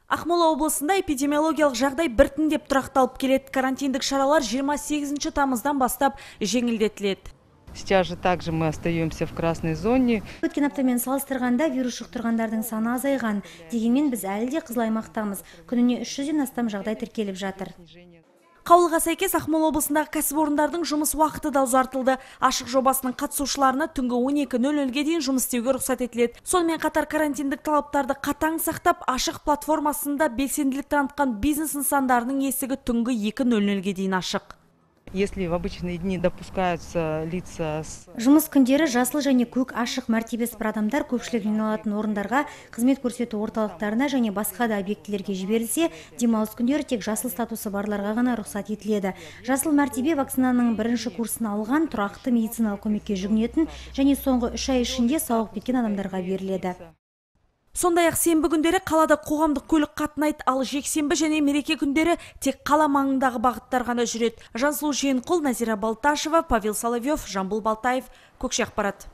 Ақмола облысында эпидемиологиялық жағдай біртіндеп тұрақталып келеді. Карантиндік шаралар 28 тамыздан бастап жеңілдетіледі. Сейчас же также мы остаемся в красной зоне. Өткен аптамен салыстырғанда вирус жұқтырғандардың саны азайған. Дегенмен біз әлі де қызыл аймақтамыз. Күніне 300-ден астам жағдай тіркеліп жатыр. Қаулыға сәйкес Ақмола облысындағы кәсіпорындардың жұмыс уақыты да ұзартылды. Ашық жобасының қатысушыларына түнгі 12:00-ге дейін жұмыс істеуге рұқсат етіледі. Сонымен қатар карантиндік талаптарды қатаң сақтап, ашық платформасында белсенділік танытқан бизнес нысандарының есігі түнгі 2:00-ге дейін ашық. Если в обычные дни допускаются лица с... Жұмыс күндері жасыл және көк ашық мәртебесі бар адамдар көпшілік жиналатын орындарға, қызмет көрсету орталықтарына және басқа да объектілерге жіберілсе, демалыс күндері тек жасыл статусы барларға ғана рұқсат етіледі. Жасыл мәртебе вакцинаның бірінші курсын алған, тұрақты медициналық көмекке жүгінетін және соңғы 3 ай ішінде сауығып кеткен адамдарға беріледі. Сондай-ақ сенбі күндері қалада қоғамдық көлік қатынайды, ал жексенбі және мереке күндері тек қала маңындағы бағыттар ғана жүреді. Жансұлу Жиенқұл, Назира Балташева, Павел Соловьев, Жамбыл Балтаев, Көкше ақпарат.